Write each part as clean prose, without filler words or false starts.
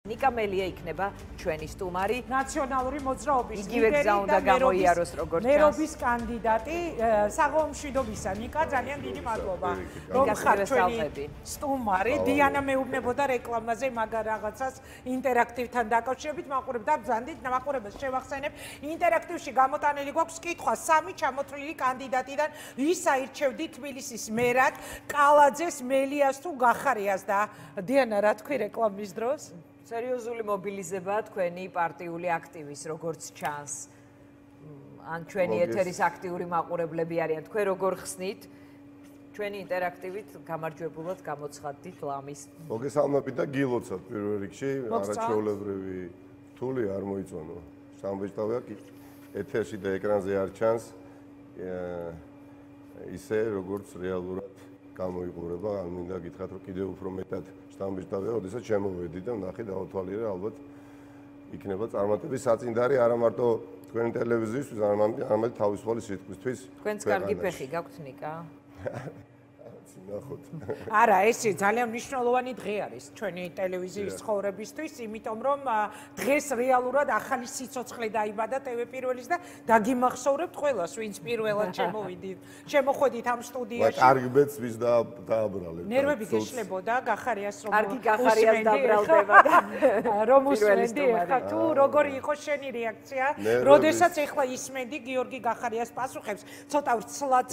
ნიკა მელია იქნება ჩვენი სტუმარი. ნაციონალური მოძრაობის ლიდერი და გამოიაროს როგორც ჩანს. მერობის კანდიდატი საღამომშვიდობისა. ნიკა, ძალიან დიდი მადლობა. რომ ხარ ჩვენი სტუმარი. დიანა მეუბნებოდა რეკლამაზე მაგარ რაღაცას ინტერაქტივთან დაკავშირებით. მაყურებთ და ბრძანდით მაყურებელს შევახსენებ. ინტერაქტივში გამოტანილი გვაქვს კითხვა 3 ჩამოთვლილი კანდიდატიდან ვის აირჩევდით თბილისის მერად, კალაძეს, მელიას თუ გახარიას და დიანა რა თქვი რეკლამის დროს? სერიოზული მობილიზებაა თქვენი პარტიული აქტივის, როგორც ჩანს. ან ჩვენი ეთერის აქტიური მაყურებლები არიან. თქვენ როგორ ხსნით? ჩვენი ინტერაქტივით გამარჯვებულად გამოცხადდით ლამის. მოგესალმებით და გილოცავთ პირველ რიგში, არაჩვეულებრივი რთული არ მოიწონო. სამბეჭდავია კი ეთერში და ეკრანზე არ ჩანს ისე როგორც რეალურად გამოიყურება. ან მინდა გითხრათ რომ კიდევ უფრო მეტად შთამბეჭდავია, როდესაც შემოვედი და ნახე დავათვალიერე, ალბათ იქნება წარმატების საწინდარი არა მარტო თქვენი ტელევიზიისთვის, არამედ თავისუფალი სიტყვისთვის. თქვენც კარგი ფეხი გაქვთ ნიკა? ნახოთ. არა, ეს ძალიან მნიშვნელოვანი დღე არის ჩვენი ტელევიზიის ცხოვრებისთვის, იმიტომ რომ დღეს რეალურად ახალი სიცოცხლე დაიბადა TV1-ის და დაგიმახსოვრებთ ყველას, ვინც პირველად შემოხვედით ამ სტუდიაში. კარგი ბედს ვის დააბრალეთ. ნერვები გეშლებოდა, გახარიას რომ კარგი გახარიას დაბრალდება და რომ usmenდი ახლა თუ როგორი იყო შენი რეაქცია, როდესაც ახლა ისმენდი გიორგი გახარიას პასუხებს, ცოტა ვრცლად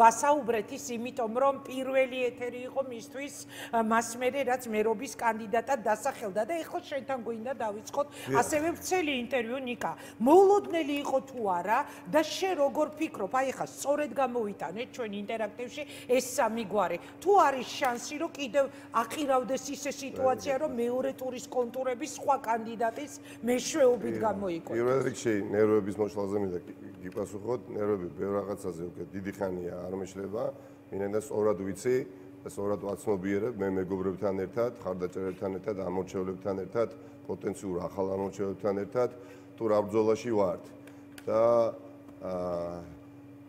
ვასაუბრეთ ის იმიტომ რომ პირველი ეთერი იყო მისთვის მასმერე რაც მერობის კანდიდატად დასახელდა და ეხლა შენთან გვინდა დავიწყოთ ასევე ვრცელი ინტერვიუ ნიკა. მოულოდნელი იყო თუ არა და შენ როგორ ფიქრობ, აი ეხლა სწორედ გამოვიტანეთ ჩვენ ინტერაქტივში ეს სამი გვარი. თუ არის შანსი რომ კიდევ აყირავდეს ისე სიტუაცია რომ მეორე ტურის კონტურების სხვა კანდიდატის მეშვეობით გამოიკვეთოს. პირველ რიგში ნერვების მოშლაზე მინდა გიპასუხოთ, ნერვები ბევრ რაღაცაზე უკვე დიდი ხანია არ მეშლება. მინდა სწორად ვიცი და სწორად ვაცნობიერებ მე მეგობრებთან ერთად, ხარდაჭერებთან ერთად, ამორჩევლებთან ერთად, პოტენციურ ახალ ამორჩევლებთან ერთად, თუ რა ბრძოლაში ვართ. და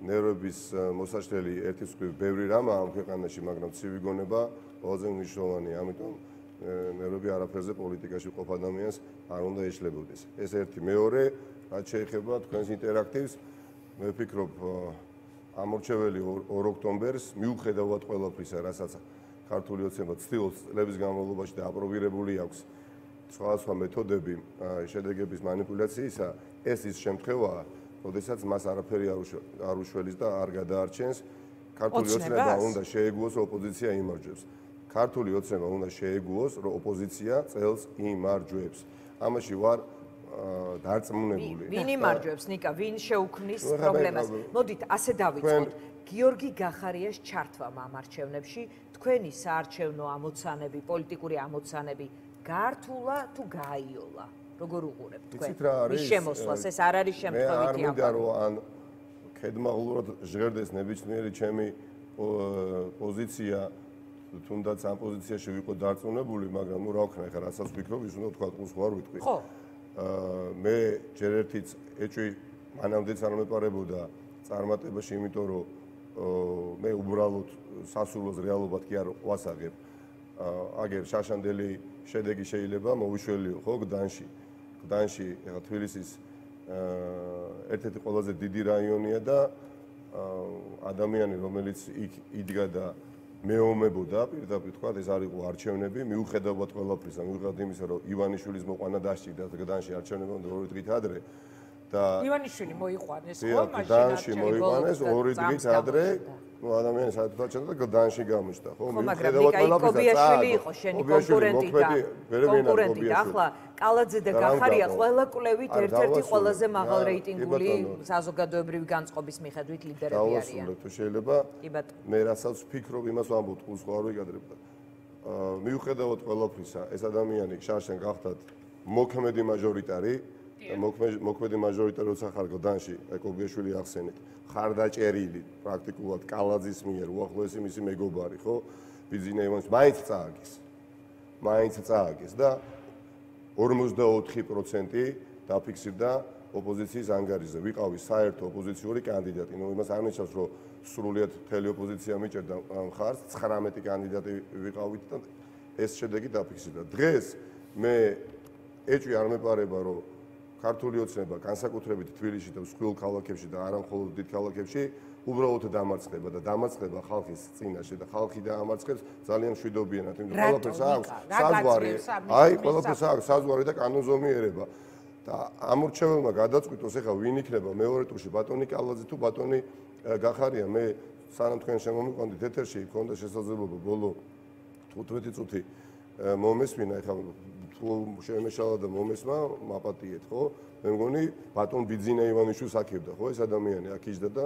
ნერვების მოსაშლელი ერთის მხრივ ბევრი რამაა ამ ქვეყანაში, მაგრამ ცივი გონება ყველაზე მნიშვნელოვანია, ამიტომ ნერვები არაფერზე პოლიტიკაში ყოფ ადამიანს არ უნდა ეშლებოდეს. ეს ერთი. მეორე, რაც შეეხება თქვენს ინტერაქტივს, მე ვფიქრობ ამორჩეველი 2 ოქტომბერს მიუხედავად ყველაფრისა, რასაც ქართული ოცნება ცდილობს წლების განმავლობაში და აპრობირებული აქვს სხვადასხვა მეთოდები შედეგების манипуляციისა, ეს ის შემთხვევაა, როდესაც მას არაფერი არ უშველის და არ გადაარჩენს. ქართული ოცნება უნდა შეეგუოს, რომ ოპოზიცია იმარჯვებს. ქართული ოცნება უნდა შეეგუოს, რომ ოპოზიცია წელს იმარჯვებს. ამაში ვარ დარწმუნებული. ვინ იმარჯვებს ნიკა, ვინ შეუქმნის პრობლემას? მოდით ასე დავიწყოთ. გიორგი გახარიას ჩართვამ ამ არჩევნებში თქვენი საარჩევნო ამოცანები, პოლიტიკური ამოცანები გართულა თუ გააიოლა? როგორ უყურებთ თქვენ? მის შემოსვლას ეს არ არის შემთხვევითი ამბავი. მე არ მინდა რომ ან ქედმაღლურად ჟღერდეს ნებისმიერი ჩემი პოზიცია, თუნდაც ამ პოზიციაში ვიყო დარწმუნებული, მაგრამ ნუ რა ვქნა, ხა რასაც ვფიქრობ, ის უნდა თქვა ყურს ხوار ვიტყვი. ხო. მე ჯერ ერთიც ეჭვი მანამდეც არ მეპარებოდა წარმატებაში, იმიტომ რომ მე უბრალოდ სასურველს რეალობად კი არ ვასაღებ. აგერ შაშანდელი შედეგი შეიძლება მოვიშველიო, ხო, გდანში. გდანში ეხლა თბილისის ერთ-ერთი ყველაზე დიდი რაიონია და ადამიანი, რომელიც იქ იდგა და მეომებოდა, პირდაპირ თქვა, ეს არ იყო არჩევნები, მიუხედავად ყველაფრისა, მიუხედავად იმისა, რომ ივანიშვილის მოყვანა დასჭირდა გდანში არჩევნები უნდა 2 დღით ადრე და ივანიშვილი მოიყვანეს, ხო, მაშინ გდანში მოიყვანეს 2 დღით ადრე, ნუ ადამიანი საერთოდ ჩანდა და გდანში გამოჩნდა, ხო, მიუხედავად ყველაფრისა, კობიაშვილი იყო შენი კონკურენტი და ახლა კალაძე და გახარია ყველა კვლევით ერთ-ერთი ყველაზე მაღალ რეიტინგული საზოგადოებრივი განწყობის მიხედვით ლიდერები არიან. თუ შეიძლება მე რასაც ვფიქრობ, იმას ვამბობ, ყურს ხო არ ვიკადრებ და მიუხედავად ყველაფრისა, ეს ადამიანი შარშან გახდათ მოქმედი მაჟორიტარი, მოქმედი მაჟორიტარი როცა ხარ გდანში, კობიაშვილი ახსენეთ, ხარდაჭერილი პრაქტიკულად კალაძის მიერ, უახლოესი მისი მეგობარი, ხო? ბიძინა ივანიშვილი მაინც წააგეს და 44% დაფიქსირდა ოპოზიციის ანგარიშზე. ვიყავი საერთო ოპოზიციური კანდიდატი. ნუ იმას არ ნიშნავს, რომ სრულიად მთელი ოპოზიცია მიჭერდა მხარს, 19 კანდიდატი ვიყავით და ეს შედეგი დაფიქსირდა. დღეს მე ეჭვი არ მეპარება, რომ ქართული ოცნება განსაკუთრებით თბილისში და მსხვილ ქალაქებში და არა მხოლოდ დიდ ქალაქებში უბრალოდ დამარცხება და დამარცხება ხალხის წინაშე და ხალხი დაამარცხებს ძალიან მშვიდობიანად, იმიტომ რომ ყველაფერს აქვს საზღვარი, ყველაფერს აქვს საზღვარი და კანონზომიერება. და ამორჩეველმა გადაწყვიტოს ეხლა ვინ იქნება მეორე ტურში, ბატონი კალაძე თუ ბატონი გახარია. მე სანამ თქვენ შემომიყვანთ ეთერში, მქონდა შესაძლებლობა ბოლო 15 წუთი მომესმინა, ეხლა თუ შემეშალა და მომესმა, მაპატიეთ, ხო? მე მგონი ბატონ ბიძინა ივანიშვილს აქებდა, ხო, ეს ადამიანი აქ იჯდა და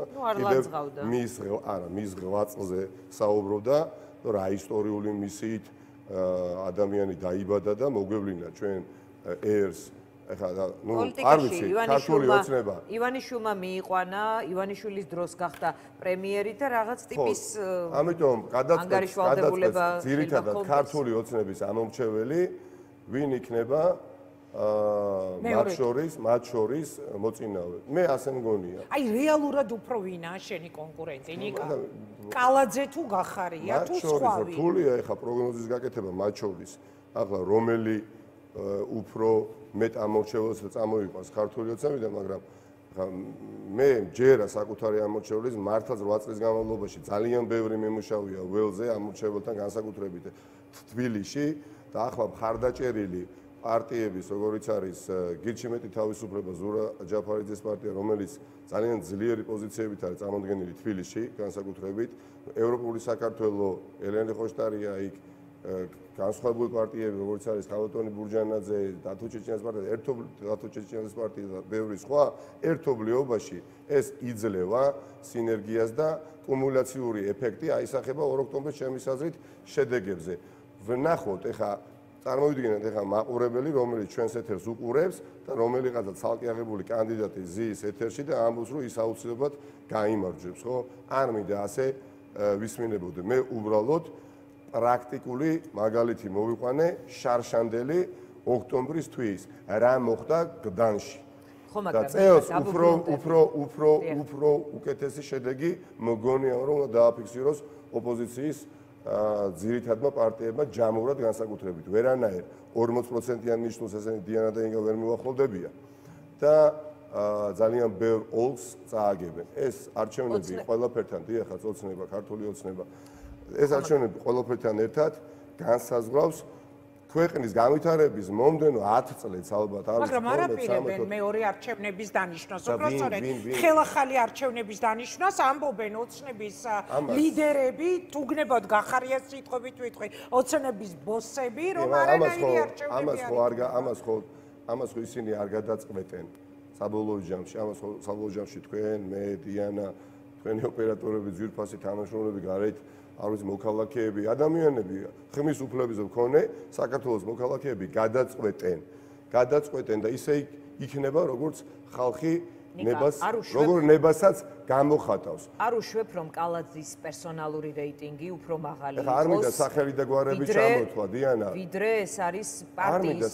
მის ღვაწლზე საუბრობდა, რომ რა ისტორიული მისიით ადამიანი დაიბადა და მოგვევლინა ჩვენ ერს. ეხლა არ ვიცი, ქართული ოცნება. ივანიშვილმა მიიყვანა, ივანიშვილის დროს გახდა პრემიერი და რაღაც ტიპის ამიტომ გადაწყვეტს ძირითადად ქართული ოცნების ამომრჩეველი ვინ იქნება მათ შორის მოწინავე. მე ასე მგონია. აი რეალურად უფრო ვინაა შენი კონკურენტი, ნიკა? კალაძე თუ გახარია თუ სხვავი? რთულია ეხლა პროგნოზის გაკეთება მათ შორის. ახლა რომელი უფრო მეტ ამორჩეველს წამოიყვანს ქართული ოცნებიდან, მაგრამ მე ჯერა საკუთარი ამორჩევლის მართლაც 8 წლის განმავლობაში ძალიან ბევრი მიმუშავია ველზე ამორჩეველთან განსაკუთრებით თბილისში და ახლა მხარდაჭერილი პარტიების, როგორიც არის გირჩიმეტი თავისუფლება, ზურა ჯაფარიძის პარტია, რომელიც ძალიან ძლიერი პოზიციებით არის წარმოდგენილი თბილისში, განსაკუთრებით ევროპული საქართველო, ელენე ხოშტარია იქ განსხვავებული პარტიები, როგორც არის ქალბატონი ბურჯანაძე, დათო ჩეჩენიას პარტია, დათო ჩეჩენიას პარტია და ბევრი სხვა, ერთობლიობაში ეს იძლევა სინერგიას და კუმულაციური ეფექტი აისახება 2 ოქტომბერს ჩემის აზრით შედეგებზე. ვნახოთ ეხა წარმოვიდგინეთ ეხა მაყურებელი, რომელიც ჩვენს ეთერს უყურებს და რომელიღაცა ცალკე აღებული კანდიდატი ზის ეთერში და ამბობს, რომ ის აუცილებლად გაიმარჯვებს, ხო? არ მინდა ასე ვისმინებოდე. მე უბრალოდ პრაქტიკული მაგალითი მოვიყვანე შარშანდელი ოქტომბრის თვის რა მოხდა გდანში. და წელს უფრო უკეთესი შედეგი მგონია რომ დააფიქსიროს ოპოზიციის ძირითადმა პარტიებმა ჯამურად განსაკუთრებით. ვერანაირ 40%-იან ნიშნულს ესენი დიანა და ინგა ვერ მივახლოვდებიან და ძალიან ბევრ ოლს წააგებენ. ეს არჩევნები ყველაფერთან დიახაც ოცნება, ქართული ოცნება ეს არჩევნები ყველაფერთან ერთად განსაზღვრავს ქვეყნის განვითარების მომდენო 10 წლებს ალბათ არის. მაგრამ არ აპირებენ მეორე არჩევნების დანიშვნას, უბრალოდ ხელახალი არჩევნების დანიშვნას ამბობენ ოცნების ლიდერები, თუგნებოდ გახარია სიტყვებით ვიტყვი, ოცნების ბოსები, რომ არანაირი არჩევნები ამას ხო ისინი არ გადაწყვეტენ საბოლოო ჯამში, საბოლოო ჯამში თქვენ, მე, დიანა, თქვენი ოპერატორები, ძვირფასი თანამშრომლები გარეთ არ ვიცი მოქალაქეები, ადამიანები ხმის უფლებებზე მქონე საქართველოს მოქალაქეები გადაწყვეტენ და ისე იქნება როგორც ხალხი როგორ ნებასაც გამოხატავს. არ უშვებ რომ კალაძის პერსონალური რეიტინგი უფრო მაღალი იყოს. არ მინდა სახელი და გვარები ჩამოთვა, დიანა. ვიდრე ეს არის პარტიის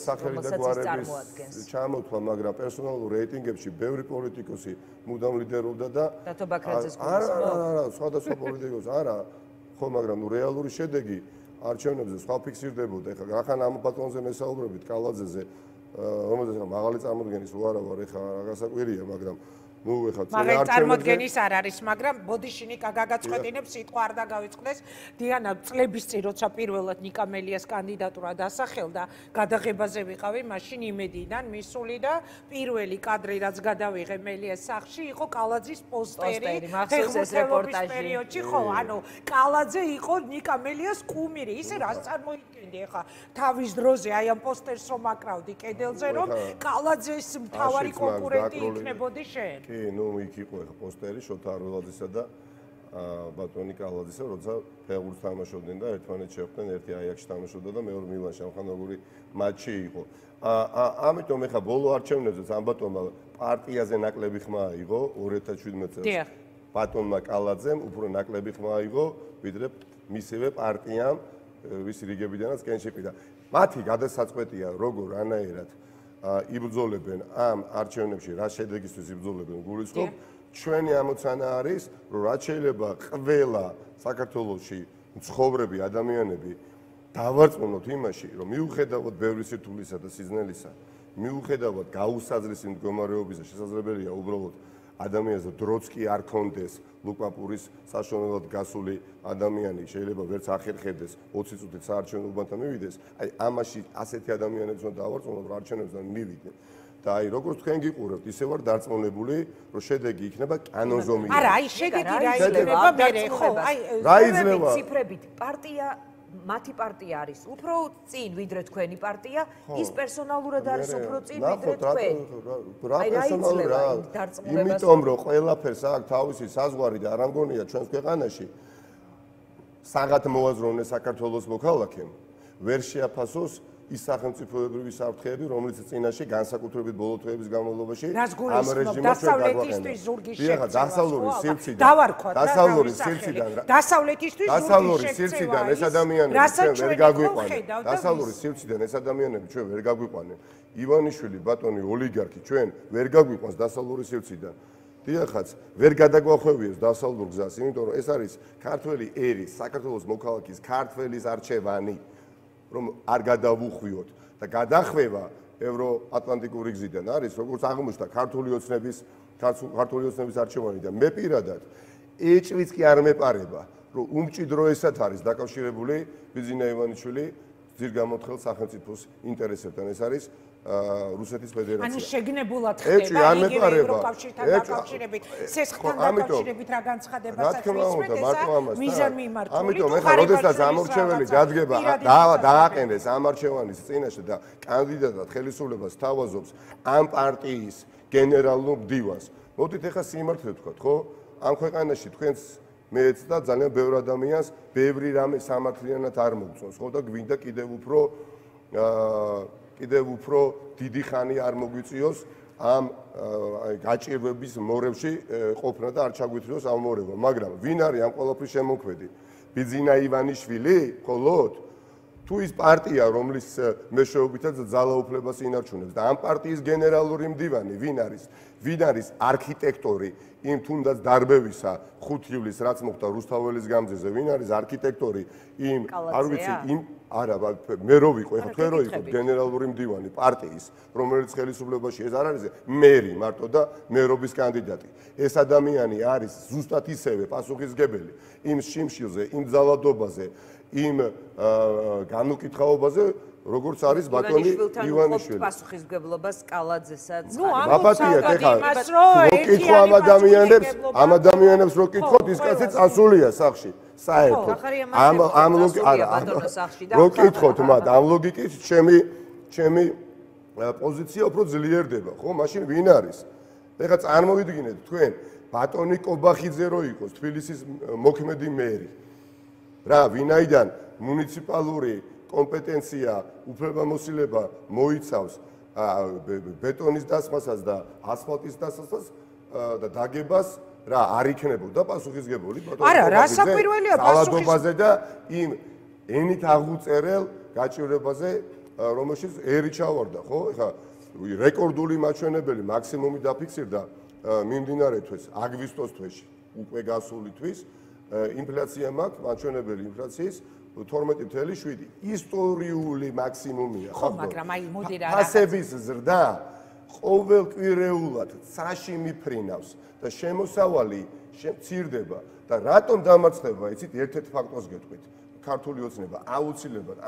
ჩამოთვა, მაგრამ პერსონალურ რეიტინგებში ბევრი პოლიტიკოსი მუდამ ლიდერობდა და დათო ბაქრაძეს არა, სხვადასხვა პოლიტიკოსი არა. ხო, მაგრამ რეალური შედეგი არჩევნებზე სხვა ფიქსირდებოდა. ეხლა რახან ამ ბატონზე მესაუბრებით კალაძეზე, რომელზეც მაღალი წარმოდგენის უარა ვარ, ეხლა გასაკვირია, მაგრამ მაგალითად წარმოდგენის არ არის, მაგრამ ბოდიში ნიკა გაგაწყვეტინებს სიტყვა არ დაგავიწყდეს. დიანა წლების წინ როცა პირველად ნიკა მელიას კანდიდატურა დასახელდა, გადაღებაზე ვიყავი, მაშინ იმედიდან მისული და პირველი კადრი რაც გადავიღე მელიას სახლში იყო კალაძის პოსტერი ფეხბურთელობის პერიოდში, ხო, ანუ კალაძე იყო ნიკა მელიას კუმირი, ისე რაც წარმოიდგენდი ახლა თავის დროზე აი ამ პოსტერს რომ აკრავდი კედელზე, რომ კალაძეს მთავარი კონკურენტი იქნებოდი შენ. კი, ნუ იქ იყო ახლა პოსტერი შოთა არველაძისა და ბატონი კალაძისა, როცა ფეხბურთს თამაშობდნენ და ერთმანეთს შეხვდნენ, ერთი აიაქსში თამაშობდა და მეორე მილანში, ამხან როგორი მატჩი იყო. ამიტომ ახლა ბოლო არჩევნებზეც ამ ბატონმა პარტიაზე ნაკლები ხმა აიღო 2017 წელს. ბატონმა კალაძემ უფრო ნაკლები ხმა აიღო, ვიდრე მისივე პარტიამ, ვისი რიგებიდანაც კენჭიპი და მათი გადასაწყვეტია როგორ რანაირად იბრძოლებენ ამ არჩევნებში, რა შედეგისთვის იბრძოლებენ გულისხმობ. ჩვენი ამოცანა არის, რომ რაც შეიძლება ყველა საქართველოში მცხოვრები ადამიანები დავარწმუნოთ იმაში, რომ მიუხედავად ბევრი სირთულისა და სიზნელისა, მიუხედავად გაუსაძრისი მდგომარეობისა, შესაძლებელია უბრალოდ ადამიანს დროც კი არ კონდეს ლუკაპურის საშუალებლად გასული ადამიანი შეიძლება ვერც ახერხებდეს 20 წუთით საარჩევნო უბანთან მივიდეს, აი ამაში ასეთი ადამიანებს უნდა დავარწმუნოთ, რომ არჩევნებიდან მივიდნენ. და აი როგორც თქვენ გიყურებთ, ისე ვარ დარწმუნებული, რომ შედეგი იქნება კანონზომიანი. არა, აი შედეგი რა იქნება მე ხო, აი რა იძლევა ციფრებით პარტია მათი პარტია არის უფრო წინ ვიდრე თქვენი პარტია, ის პერსონალურად არის უფრო წინ ვიდრე თქვენ. რა პერსონალური რა? იმიტომ რომ ყველაფერს აქვს თავისი საზღვარი და არ ამგონია ჩვენს ქვეყანაში საღათ მოაზროვნე საქართველოს მოქალაქემ ვერ შეაფასოს ის სახელმწიფოებრივი საფრთხეები, რომელიც წინაშე განსაკუთრებით ბოლო თვეების განმავლობაში ამ რეჟიმს დასავლეთისთვის ზურგის შეცევა. დასავლური სივრციდან. დავარქვათ რა დასავლური სივრციდან. დასავლეთისთვის დასავლური სივრციდან ეს ადამიანები ჩვენ ვერ გაგვიყვანენ. დასავლური სივრციდან ეს ადამიანები ჩვენ ვერ გაგვიყვანენ. ივანიშვილი ბატონი ოლიგარქი ჩვენ ვერ გაგვიყვანს დასავლური სივრციდან. დიახაც, ვერ გადაგვახვევიეს დასავლურ გზას, იმიტომ რომ ეს არის ქართველი ერის, საქართველოს მოქალაქის ქართველის არჩევანი. რომ არ გადავუხვიოთ და გადახვევა ევროატლანტიკური გზიდან არის როგორც აღმოჩნდა ქართული ოცნების არჩევანი და მე პირადად ეჭვიც კი არ მეპარება რომ უმჭიდროესად არის დაკავშირებული ბიძინა ივანიშვილი ძირგამოთხელ სახელმწიფოს ინტერესებთან ეს არის რუსეთის ფედერაცია. ანუ შეგნებულად ხდება იგივე ევროკავშირთან დაკავშირებით, სესხთან დაკავშირებით რა განცხადებასაც ვისმენთ ეს მიზანი მიმართული. ამიტომ ეხლა როდესაც ამორჩეველი დადგება დააყენეს ამ არჩევანის წინაშე და კანდიდატად ხელისუფლებას თავაზობს ამ პარტიის გენერალურ მდივანს. მოდით ეხლა სიმართლე ვთქვათ, ხო? ამ ქვეყანაში თქვენს მეც და ძალიან ბევრ ადამიანს ბევრი რამე სამართლიანად არ მოგწონს, ხო და გვინდა კიდევ უფრო დიდი ხანი არ მოგვიწიოს ამ გაჭირვების მორევში ყოფნა და არ ჩაგვითრიოს ამ მორევა, მაგრამ ვინ არის ამ ყველაფრის შემოქმედი? ბიძინა ივანიშვილი, მხოლოდ თუ ის პარტია, რომლის მეშვეობითაც ძალაუფლებას ინარჩუნებს და ამ პარტიის გენერალური მდივანი ვინ არის? ვინ არის არქიტექტორი იმ თუნდაც დარბევისა 5 ივლისს რაც მოხდა რუსთაველის გამზეზე? ვინ არის არქიტექტორი იმ არ ვიცი იმ არა მე რო ვიყო ეხლა თქვენ რო იყოთ გენერალური მდივანი პარტიის რომელიც ხელისუფლებაში ეს არ არის მერი მარტო და მერობის კანდიდატი ეს ადამიანი არის ზუსტად ისევე პასუხისგებელი იმ შიმშილზე იმ ძალადობაზე იმ განუკითხაობაზე როგორც არის ბატონი ივანიშვილი პასუხისგებლობას კალაძესაც ბაბათია ეხლა ამ ადამიანებს რო კითხოთ ის კაცი წასულია სახში საერთოდ ამ რო კითხოთ მათ ამ ლოგიკით ჩემი პოზიცია უფრო ძლიერდება ხო მაშინ ვინ არის ეხლა წარმოვიდგინეთ თქვენ ბატონი კობახიძე რო იყოს თბილისის მოქმედი მერი რა ვინაიდან მუნიციპალური კომპეტენცია უფლებამოსილება მოიცავს ბეტონის დასმასაც და ასფალტის დასმასაც და დაგებას რა არ იქნებოდა პასუხისგებელი ბატონი არა რა საკვირველია პასუხისგებაზე და იმ ენით აღუწერელ გაჭირვებაზე რომელშიც ერი ჩავარდა ხო ეხლა რეკორდული მაჩვენებელი მაქსიმუმი დაფიქსირდა მიმდინარე თვეს აგვისტოს თვეში უკვე გასული თვის ინფლაცია მაქვს მაჩვენებელი ინფლაციის 12.7 ისტორიული მაქსიმუმია ხო მაგრამ აი მოდი რა ფასების ზრდა ყოველკვირეულად ცაში მიფრინავს და შემოსავალი მცირდება და რატომ დამარცხება იცით ერთ-ერთ ფაქტორს გეტყვით ქართული ოცნება აუცილებლად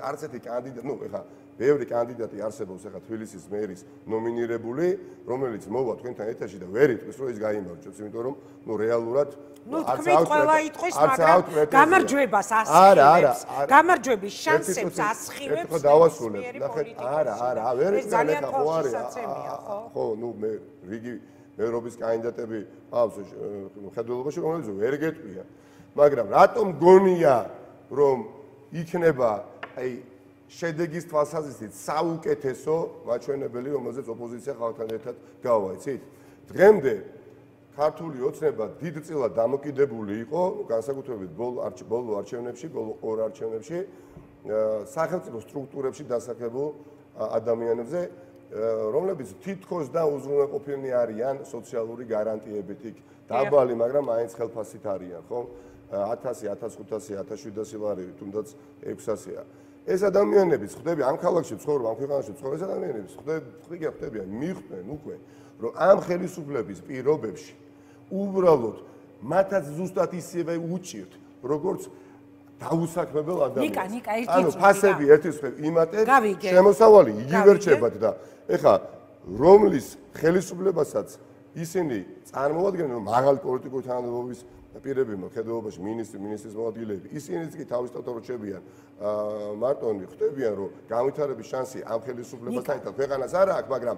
არც ერთი კანდიდატი ნუ ეხლა ბევრი კანდიდატი არსებობს ეხლა თბილისის მერის ნომინირებული რომელიც მოვა თქვენთან ეთერში და ვერ იტყვის რომ ის გაიმარჯვებს იმიტომ რომ ნუ რეალურად ნუ თქვენ ყველა იტყვის მაგრამ გამარჯვებას ასხივებს გამარჯვების შანსებს ასხივებს დავასრულებ ნახეთ არა ვერ იტყვიან ეხლა ხო არის ხო ნუ მე რიგი მერობის კანდიდატები აქვს ხედველობაში რომელიც ვერ გეტყვიან მაგრამ რატომ გონია რომ იქნება აი შედეგის თვალსაზრისით საუკეთესო მაჩვენებელი რომელზეც ოპოზიცია ხალხთან ერთად გავა იცით დღემდე ქართული ოცნება დიდწილად დამოკიდებული იყო განსაკუთრებით ბოლო არჩევნებში ბოლო ორ არჩევნებში სახელმწიფო სტრუქტურებში დასახლებულ ადამიანებზე რომლებიც თითქოს და უზრუნველყოფილნი არიან სოციალური გარანტიებით იქ დაბალი მაგრამ მაინც ხელფასით არიან ხო 1000, 1500, 1700 ლარი, თუნდაც 600-ია. ეს ადამიანებიც ხდები ამ ქალაქში ცხოვრობ, ამ ქვეყანაში ცხოვრობ, ეს ადამიანებიც ხდებიან, მიხვდნენ უკვე, რომ ამ ხელისუფლების პირობებში უბრალოდ მათაც ზუსტად ისევე უჭირთ, როგორც დაუსაქმებელ ადამიანს. ანუ ფასები ერთის მხრივ იმატებს, შემოსავალი იგივე რჩებათ და ეხლა რომლის ხელისუფლებასაც ისინი წარმოადგენენ, რომ მაღალი პოლიტიკური თანამდებობის პირები მხედველობაში მინისტრის მოადგილეები, ისინიც კი თავისთავად რჩებიან მარტონი, ხდებიან, რომ განვითარების შანსი ამ ხელისუფლებასთან ერთად ქვეყანას არ აქვს, მაგრამ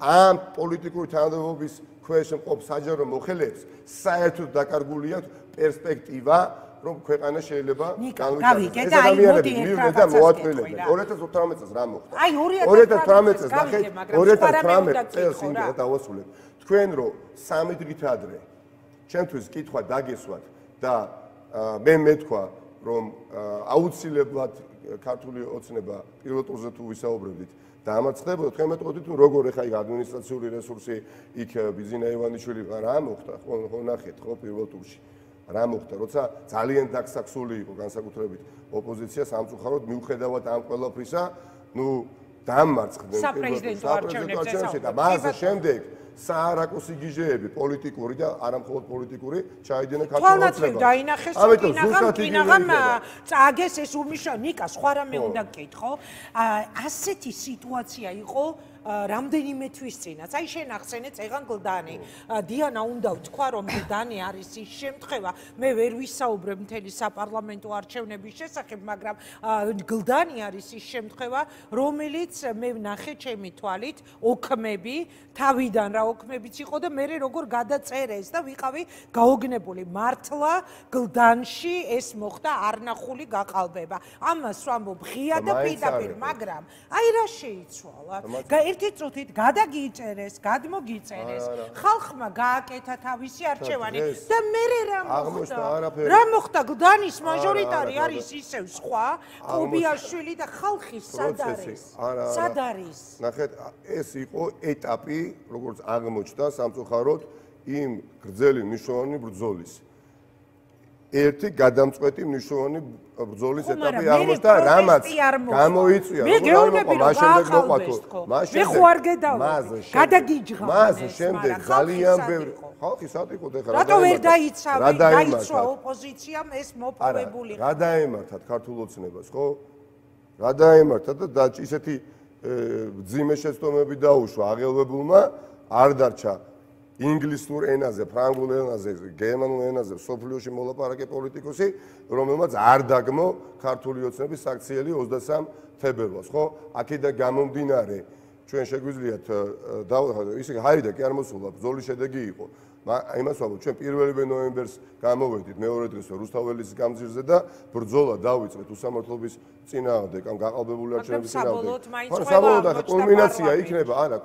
ამ პოლიტიკური თანამდებობის ქვეშ მყოფ საჯარო მოხელეებს საერთოდ დაკარგული აქვს პერსპექტივა, რომ ქვეყანა შეიძლება განვითარდეს. ეს ადამიანები მივიდნენ და მოაწყვეტილებდნენ. 2018 წელს რა მოხდა? 2018 წელს ნახეთ, 2018 წელს იმედა დავასრულებ. თქვენ რომ 3 დღით ადრე ჩემთვის კითხვა დაგესვათ და მე მეთქვა რომ აუცილებლად ქართული ოცნება პირველ ტურზე თუ ვისაუბრებდით და ამაც ხდებოდა თქვენ მეტყოდით თუ როგორ ეხა იქ ადმინისტრაციული რესურსი იქ ბიზინა ივანიშვილი რა მოხდა ხო ნახეთ ხო პირველ ტურში რა მოხდა როცა ძალიან დაგსაქსული იყო განსაკუთრებით ოპოზიცია სამწუხაროდ მიუხედავად ამ ყველაფრისა ნუ დამარცხდნენ საპრეზიდენტო არჩევნებში და მას შემდეგ საარაკოს იგიჟეები პოლიტიკური და არამხოლოდ პოლიტიკური ჩაიდნენ ქართულ ოცნებაში. დაინახეს კინაღამ წააგეს ეს უმიშა ნიკა სხვა რამე უნდა გკითხო. ასეთი სიტუაცია იყო რამდენიმე თვის წინაც. აი შენ ახსენე წეგან გლდანი. დიანა უნდა ვთქვა რომ გლდანი არის ის შემთხვევა. მე ვერ ვისაუბრებ მთელი საპარლამენტო არჩევნების შესახებ, მაგრამ გლდანი არის ის შემთხვევა, რომელიც მე ვნახე ჩემი თვალით ოქმები, თავიდან რა ოქმებიც იყო და მე როგორ გადაწერეს და ვიყავი გაოგნებული. მართლა გლდანში ეს მოხდა არნახული გაყალბება. ამას ვამბობ ღია და პირდაპირ, მაგრამ აი რა შეიცვალა. ერთი წუთით გადაგიწერეს, გადმოგიწერეს, ხალხმა გააკეთა თავისი არჩევანი და მე რა მოხდა? რა მოხდა? გლდანის მაჟორიტარი არის ისევ სხვა, კობიაშვილი და ხალხი სად არის? სად არის? ნახეთ, ეს იყო ეტაპი, როგორც აღმოჩნდა სამწუხაროდ იმ გრძელი მნიშვნელოვანი ბრძოლის. ერთი გადამწყვეტი მნიშვნელოვანი ბრძოლის ეტაპი აღმოჩნდა, რამაც გამოიწვია, მე ხوار გედავდი, გადაგიჯღა. მას შემდეგ ძალიან ბევრი ხალხი სად იყო და რატო ვერ დაიცვა ოპოზიციამ ეს მოპოვებული? რა დაემართათ ქართულ ოცნებას, ხო? რა დაემართათ და ისეთი ძიმე შეცდომები დაუშვა აღელვებულმა, არ დარჩა ინგლისურ ენაზე, ფრანგულ ენაზე, გერმანულ ენაზე სოფლიოში მოლაპარაკე პოლიტიკოსი, რომელმაც არ დაგმო ქართული ოცნების საქციელი 23 თებერვალს, ხო? აქედან გამომდინარე, ჩვენ შეგვიძლიათ ისე ჰაიდა კი არ მოსულა, ბრძოლის შედეგი იყო. იმას ვამბობ, ჩვენ 1 ნოემბერს გამოვედით მეორე დღეს რუსთაველის გამზირზე და ბრძოლა დავიწყეთ უსამართლობის წინააღმდეგ, ამ გაყალბებული არჩევნების წინააღმდეგ. ხო, საბოლოოდ კულმინაცია იქნება, არა,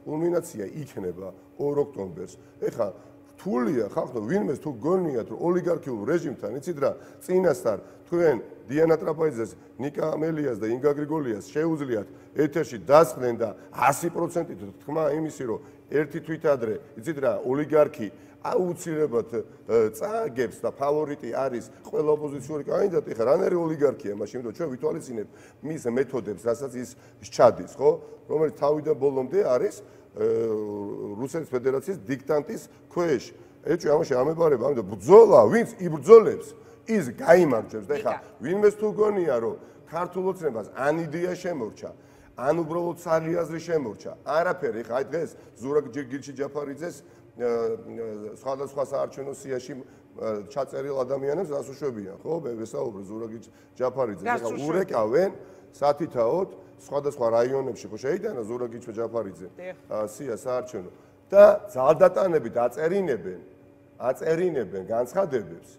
კულმინაცია იქნება 2 ოქტომბერს. ეხლა რთულია ხალხო, ვინმეს თუ გონიათ, რომ ოლიგარქიულ რეჟიმთან, იცით რა, წინასწარ თქვენ დიანა ტრაპაიძეს, ნიკა ამელიას და ინგა გრიგოლიას შეუძლიათ ეთერში დასხდნენ და 100%-ით თქმა იმისი, რომ ერთი თვით ადრე, იცით რა, ოლიგარქი აუცილებლად წააგებს და ფავორიტი არის ყველა ოპოზიციური კანდიდატი. ხა რანერი ოლიგარქია მაშინ, რომ ჩვენ ვითვალისწინებთ მის მეთოდებს, რასაც ის სჩადის, ხო? რომელიც თავიდან ბოლომდე არის რუსეთის ფედერაციის დიქტანტის ქვეშ. ეჭვი ამაში ამებარება, ამიტომ ბრძოლა, ვინც იბრძოლებს, ის გაიმარჯვებს. და ხა ვინმეს თუ გონია, რომ ქართულ ოცნებას ან იდეა შემორჩა, ან უბრალოდ საღი აზრი შემორჩა. არაფერი, ხა აი დღეს ზურაბ გილჩი ჯაფარიძეს სხვადასხვა საარჩევნო სიაში ჩაწერილ ადამიანებს ასუშვებიან, ხო? ვესაუბრე ზურაბ ჯაფარიძეს, ხა ურეკავენ სათითაოდ სხვადასხვა რაიონებში, ხო შეიტანა ზურაბ ჯაფარიძე სია საარჩევნო და ძალდატანებით აწერინებენ განცხადებებს,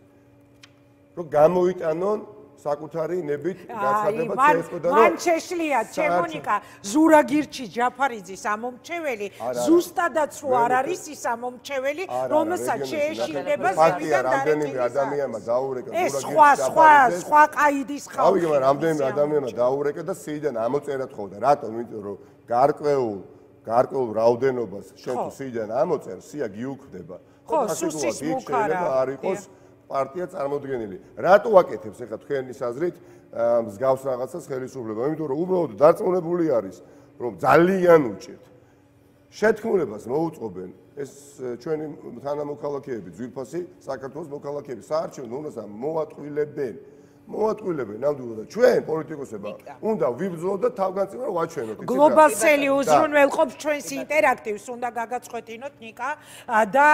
რომ გამოიტანონ საკუთარი ნებით განცხადება CSKO-დან და მან შეშლია ჩემონიკა ზურაგირჩი ჯაფარიძის ამომრჩეველი ზუსტადაც რო არ არის ის ამომრჩეველი რომელსაც შეეშინდება ზევიდან რამდენიმე ადამიანმა დაურეკა ზურაგირჩი სხვა ყაიდის ხალხი ავიღე მაგრამ რამდენიმე ადამიანმა დაურეკა და სიიდან ამოწერა თხოვდა რატომ იმიტომ რომ გარკვეულ რაოდენობას შენ თუ სიიდან ამოწერ სია გიუქმდება ხო სუსის მუქარა არ იყოს პარტია წარმოდგენილი. რატო აკეთებს ახლა თქვენის აზრით მსგავს რაღაცას ხელისუფლება? იმიტომ რომ უბრალოდ დარწმუნებული არის, რომ ძალიან უჭირთ შეთქმულებას მოუწყობენ ეს ჩვენი თანამოქალაქეები, ძვირფასი საქართველოს მოქალაქეები საარჩევნო უნდას მოატყვილებენ. ნამდვილად და ჩვენ პოლიტიკოსებმა უნდა ვიბრძოლოთ და თავგანწირვა ვაჩვენოთ. გლობალსელი უზრუნველყოფს ჩვენს ინტერაქტივს, უნდა გაგაცხოთინოთ ნიკა და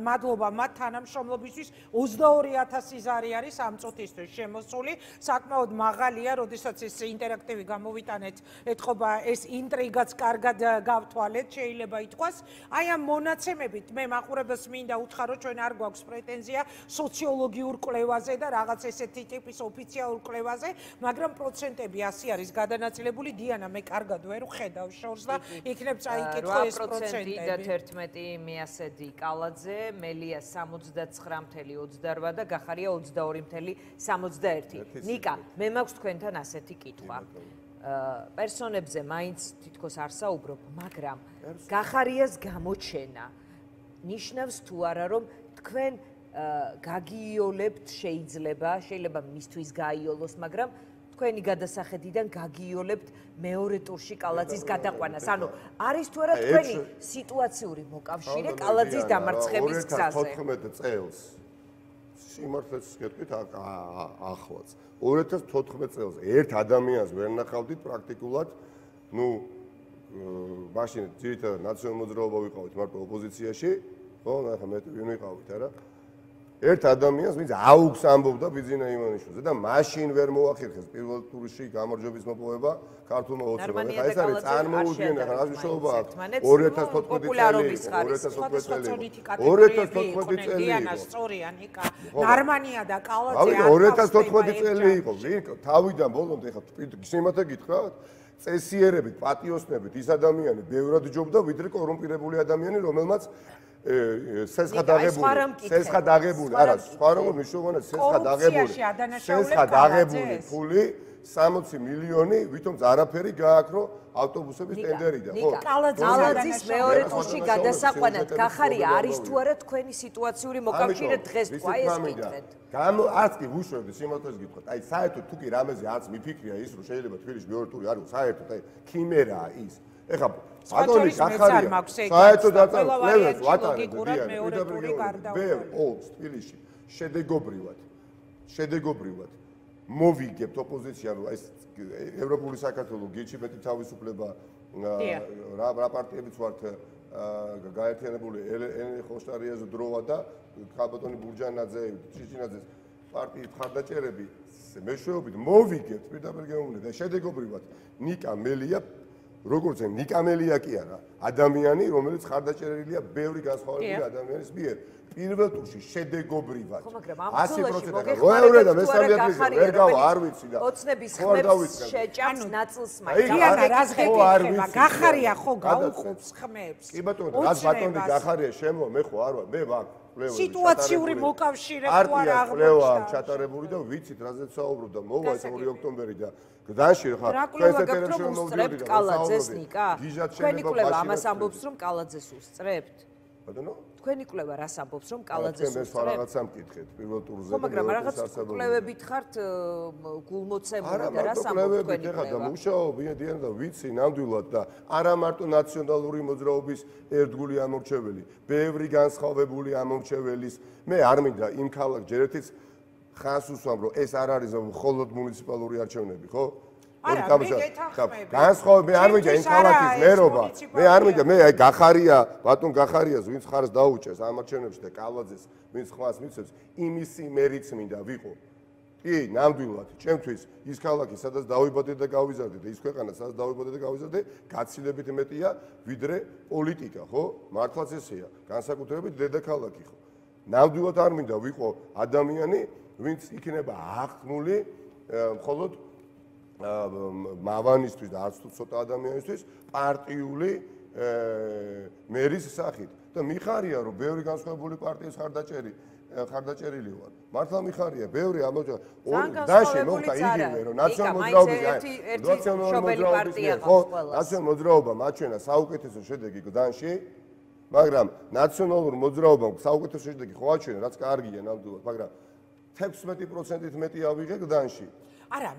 მადლობა მათ თანამშრომლობისთვის 22000 ზარი არის ამ წუთისთვის შემოსული. საკმაოდ მაღალია, როდესაც ეს ინტერაქტივი გამოვიტანეთ, ეთყობა ეს ინტრიგაც კარგად გავთვალეთ, შეიძლება ითქვას. აი ამ მონაცემებით მე მაყურებელს მინდა უთხრა, ჩვენ არ გვაქვს პრეტენზია სოციოლოგიურ კვლევაზე და რაღაც ესეთი ტიპის ოფიციალურ კვლევაზე, მაგრამ პროცენტები 100 არის გადანაწილებული. დიანა, მე კარგად ვერ ვხედავ შორს და იქნებ წაიკითხო ეს პროცენტები. 8% მიასედი კალაძე, მელია 69.28 და გახარია 22.61. ნიკა, მე მაქვს თქვენთან ასეთი კითხვა. პერსონებზე მაინც თითქოს არ საუბრობ, მაგრამ გახარიას გამოჩენა ნიშნავს თუ არა, რომ თქვენ გაგიოლებთ შეიძლება მისთვის გაიოლოს, მაგრამ თქვენი გადასახედიდან გაგიოლებთ მეორე ტურში კალაძის გადაყვანას. ანუ არის თუ არა თქვენი სიტუაციური მოკავშირე კალაძის დამარცხების გზაზე? 2014 წელს სიმართლეს გეტყვით ახლაც 2014 წელს ერთ ადამიანს ვერ ნახავდით პრაქტიკულად, მაშინ ძირითადად ნაციონალურ მოძრაობა ვიყავით მარტო ოპოზიციაში, ხო, ნახე მე ვინ ვიყავით, არა? ერთ ადამიანს, ვინც აუგს ამბობდა ბიძინა იმანიშვილზე და მაშინ ვერ მოახერხეს პირველ ტურში გამარჯვების მოპოვება ქართულმა ოცნებამ. ეხლა ეს არის წარმოუდგენელი, რა მნიშვნელობა აქვს 2014 წელი. დიანა სწორია ნიკა. ნარმანია და კალაძე 2014 წელი იყო. თავიდან ბოლომდე ეხლა სიმართლე გითხრათ, წესიერებით, პატიოსნებით ის ადამიანი ბევრად ჯობდა, ვიდრე კორუმპირებული ადამიანი, რომელმაც სესხა დაღებული, არა, სხვა როგორ მნიშვნელოვანია სესხა დაღებული ფული 60 მილიონი, ვითომც არაფერი გააკრო ავტობუსების ტენდერიდან, ხო? კალაძის მეორე ტურში გადასაყვანად გახარია არის თუ არა თქვენი სიტუაციური მოკავშირე დღეს თქვა ეს კითხეთ? არც კი ვუშვებდი სიმართლეს გითხრათ. აი საერთოდ თუ კი რამეზე არც მიფიქრია ის, რომ შეიძლება თბილისში მეორე ტური არ იყოს, საერთოდ აი ქიმერაა ის. ეხლა ბატონი გახარია საერთოდ დაწესებულებას ვატარებ მეორე ტური გარდაუვალ. თბილისში შედეგობრივად მოვიგებთ ოპოზიცია, რომ ეს ევროპული საქართველო გიჩი მეტი თავისუფლება რა პარტიებიც ვართ გაერთიანებული ელენე ხოშტარიას დროა და ქალბატონი ბურჯანაძე, ჭიჭინაძეს პარტიის მხარდაჭერები მეშვეობით მოვიგებთ პირდაპირ გეუბნები და შედეგობრივად ნიკა მელია როგორც ნიკა მელია კი არა, ადამიანი, რომელიც ხარდაჭერილია ბევრი განსხვავებული ადამიანის მიერ. პირველ ტურში შედეგობრივად 100% როევრე და მესამე ადგილზე ვერ გავა, არ ვიცი და ოცნების ხმებს შეჭამს ნაწილს მაინც. დიანა, რას გეკითხება? გახარია ხო გაუხობს ხმებს? კი ბატონო, რას ბატონი გახარია შემო, მე ხო არ ვარ, მე ვარ სიტუაციური მოკავშირე ხო არ აღმოჩნდა. კვლევა ჩატარებული და ვიცით რაზეც საუბრობდა, მოვა ეს 2 ოქტომბერი და გდანში ხარ. რა კვლევა გაქვთ რომ უსწრებთ კალაძეს ნიკა? თქვენი კვლევა ამას ამბობს რომ კალაძეს უსწრებთ? ბატონო? თქვენი კვლევა რას ამბობს რომ კალაძეს უსწრებთ? მე რაღაცა მკითხეთ პირველ ტურზე. ხო, მაგრამ რაღაც კვლევებით ხართ გულმოცემული და რას ამბობს თქვენი კვლევა? ეხლა მუშაობია დიანა და ვიცი ნამდვილად და არა მარტო ნაციონალური მოძრაობის ერთგული ამორჩეველი, ბევრი განსხვავებული ამორჩეველის. მე არ მინდა იმ ქალაქ ჯერეთიც ხანს უსვამ რომ ეს არ არის მხოლოდ მუნიციპალური არჩევნები, ხო? განსხვავებული, მე არ მინდა იმ ქალაქის მერობა. მე არ მინდა, მე აი გახარია, ბატონ გახარიას, ვინც ხარს დაუჭერს ამ არჩევნებში და კალაძეს, ვინც ხმას მიცემს, იმისი მერიც მინდა ვიყო. კი, ნამდვილად, ჩემთვის ის ქალაქი, სადაც დავიბადე და გავიზარდე და ის ქვეყანა, სადაც დავიბადე და გავიზარდე, გაცილებით მეტია ვიდრე პოლიტიკა, ხო? მართლაც ესეა, განსაკუთრებით დედაქალაქი, ხო? ნამდვილად არ მინდა ვიყო ადამიანი, ვინც იქნება აღქმული მხოლოდ მავანისთვის და არც თუ ცოტა ადამიანისთვის პარტიული მერის სახით. და მიხარია რომ ბევრი განსხვავებული პარტიის ხარდაჭერილი ვარ. მართლა მიხარია, ბევრი ამოჭა. დაში მოხდა იგივე რომ ნაციონალურ მოძრაობა მაჩვენა საუკეთესო შედეგი გდანში მაგრამ ნაციონალურ მოძრაობამ საუკეთესო შედეგი ხო აჩვენა, რაც კარგია ნამდვილად, მაგრამ 16%-ით მეტი ავიღე გდანში. არა,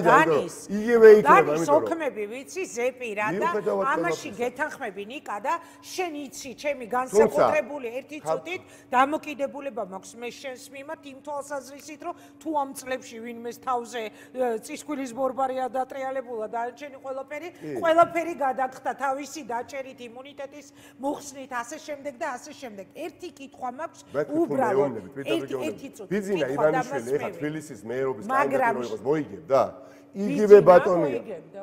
დანის იგივე იქნება, ამიტომ ოქმები ვიცი ზეპირა და ამაში გეთანხმები ნიკა და შენ იცი ჩემი განსაკუთრებული ერთი წუთით დამოკიდებულება მაქვს მე შენს მიმართ იმ თვალსაზრისით რომ თუ ამ წლებში ვინმეს თავზე წისქვილის ბორბარია დატრიალებულა და ჩვენი ყველაფერი გადაგხდა თავისი დაჭერით იმუნიტეტის მოხსნით ასე შემდეგ და ასე შემდეგ ერთი კითხვა მაქვს უბრალოდ ერთი წუთი ბიძინა ივანიშვილი ეხა თბილისის მეერობის კანდიდატი მოიგებ და იგივე ბატონია.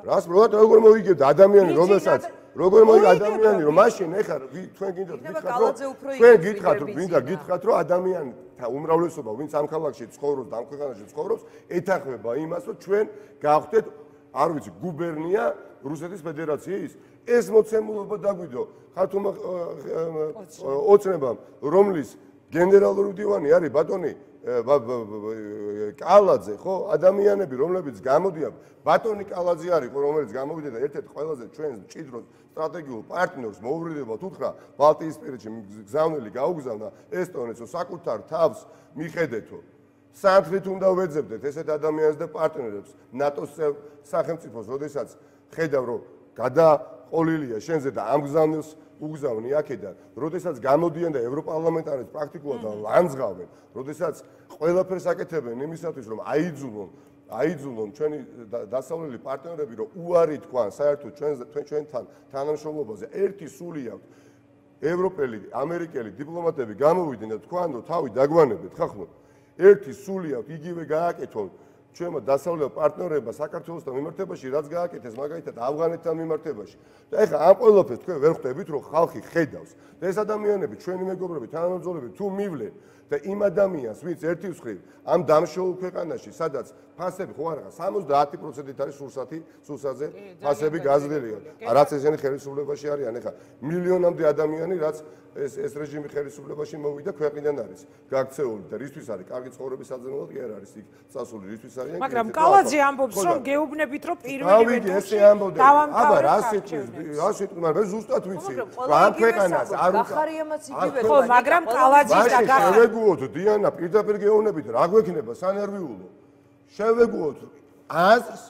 რას როგორ მოიგებდა ადამიანი რომელსაც როგორ მოიგე ადამიანი რომ მაშინ ეხა თქვენ გითხათ რომ გინდა გითხრათ რომ ადამიანთა უმრავლესობა ვინც ამ ქალაქში ცხოვრობს და ამ ქვეყანაში ცხოვრობს ეთანხმება იმას რომ ჩვენ გავხდეთ არ ვიცი გუბერნია რუსეთის ფედერაციის ეს მოცემულობა დაგვიდო ხათუმა ოცნებამ რომლის გენერალური მდივანი არის ბატონი კალაძე ხო ადამიანები რომლებიც გამოდიან ბატონი კალაძე არის ხო რომელიც გამოვიდა და ერთ-ერთ ყველაზე ჩვენ მჭიდრო სტრატეგიულ პარტნიორს მოუბრიდებათ უთხრა ბალტიისპირეთში გზავნილი გაუგზავნა ესტონეთს საკუთარ თავს მიხედეთო სანთლით უნდა ვეძებდეთ ესეთ ადამიანებს და პარტნიორებს ნატოს სახელმწიფოს როდესაც ხედავ რომ გადაყოლილია შენზე და ამ გზავნილს უგზავნი აქედან, როდესაც გამოდიან და ევროპარლამენტარებს პრაქტიკულად ლანძღავენ, როდესაც ყველაფერს აკეთებენ იმისათვის, რომ აიძულონ ჩვენი დასავლელი პარტნიორები, რომ უარი თქვან საერთოდ ჩვენთან თანამშრომლობაზე, ერთი სული აქვს. ევროპელი, ამერიკელი დიპლომატები გამოვიდნენ და თქვან, რომ თავი დაგვანებთ, ხახო. ერთი სული აქვს, იგივე გააკეთონ ჩვენმა დასავლელ პარტნიორებმა საქართველოსთან მიმართებაში რაც გააკეთეს მაგალითად ავღანეთთან მიმართებაში და ეხლა ამ ყველაფერს თქვენ ვერ ხვდებით რომ ხალხი ხედავს და ეს ადამიანები ჩვენი მეგობრები თანამებრძოლები თუ მივლენ და იმ ადამიანს ვინც ერთი მხრივ ამ დამშოულ ქვეყანაში სადაც ფასები ხო არა 70% არის სურსაზე ფასები გაზრდილია რაც ესენი ხელისუფლებაში არიან ეხლა მილიონამდე ადამიანი რაც ეს რეჟიმი ხელისუფლებაში მოვიდა ქვეყნიდან არის გაქცეული და რისთვის არის კარგი ცხოვრების საძებნელად კი არ არის იქ წასული რისთვის არის მაგრამ კალაძე ამბობს რომ გეუბნებით რომ პირველივე ესე ამბობდნენ აბა რა სიტყვი მაგრამ ზუსტად ვიცი ამ ქვეყანას არ გახარიამაც იგივე ხო მაგრამ კალაძის და შევეგუოთ დიანა პირდაპირ გეუბნებით რა გვექნება სანერვიულო შევეგუოთ აზრს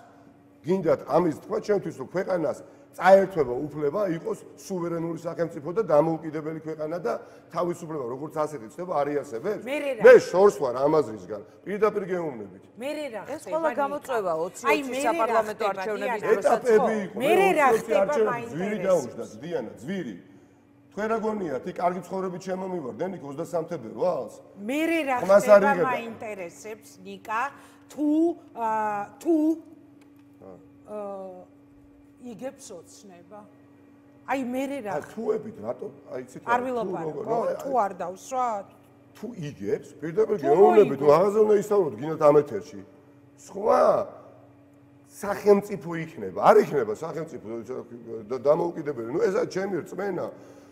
გინდათ ამის თქვა ჩემთვის რომ ქვეყანას წაერთვება უფლება იყოს სუვერენული სახელმწიფო და დამოუკიდებელი ქვეყანა და თავისუფლება როგორც ასეთი ცდება არიასებებს მე შორს ვარ ამაზრისგან პირდაპირ გეუბნებით ეს ყველა გამოწვევა 20 საპარლამენტო არჩევნების ეტაპები იყო მე რა ხდება ძვირი დაუშვდა დიანა ძვირი თქვენ რა გონიათ იქ კარგი ცხოვრებით შემომივარდნენ იქ 23 თებერვალს მე რა ხდება მაინტერესებს ნიკა თუ იგებს ოცნება. აი მე რა თუებით რატო აი ცით არ ვილაპარაკო თუ არ დავსვათ თუ იგებს პირდაპირ გეუბნებით მაღაზია უნდა ისწავლოთ გინდათ ამ ეთერში სხვა სახელმწიფო იქნება არ იქნება სახელმწიფო დამოუკიდებელი ნუ ესა ჩემი რწმენა